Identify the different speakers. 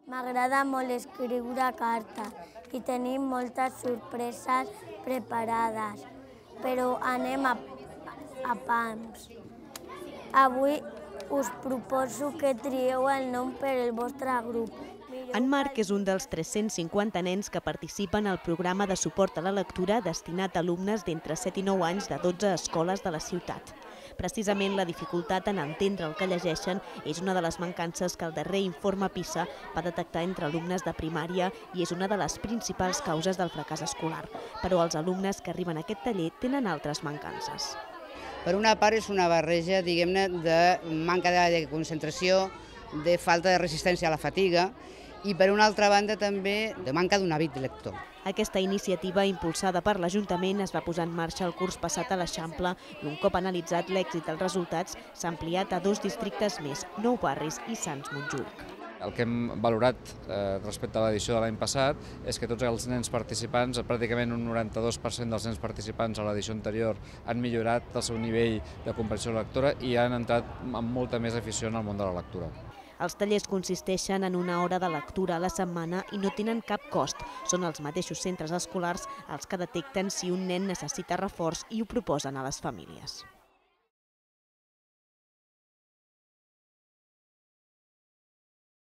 Speaker 1: M'agrada molt escriure cartes i tenim moltes sorpreses preparades, però anem a pams. Avui us proposo que trieu el nom per al vostre grup.
Speaker 2: En Marc és un dels 350 nens que participen al programa de suport a la lectura destinat a alumnes d'entre 7 i 9 anys de 12 escoles de la ciutat. Precisament la dificultat en entendre el que llegeixen és una de les mancances que el darrer informe PISA va detectar entre alumnes de primària i és una de les principals causes del fracàs escolar. Però els alumnes que arriben a aquest taller tenen altres mancances.
Speaker 3: Per una part és una barreja, diguem-ne, de manca de concentració, de falta de resistència a la fatiga i per una altra banda també de manca d'un hàbit lector.
Speaker 2: Aquesta iniciativa, impulsada per l'Ajuntament, es va posar en marxa el curs passat a l'Eixample i un cop analitzat l'èxit dels resultats s'ha ampliat a 2 districtes més, Nou Barris i Sants Montjuïc.
Speaker 4: El que hem valorat respecte a l'edició de l'any passat és que tots els nens participants, pràcticament un 92% dels nens participants a l'edició anterior han millorat el seu nivell de comprensió lectora i han entrat amb molta més afició en el món de la lectura.
Speaker 2: Els tallers consisteixen en una hora de lectura a la setmana i no tenen cap cost. Són els mateixos centres escolars els que detecten si un nen necessita reforç i ho proposen a les famílies.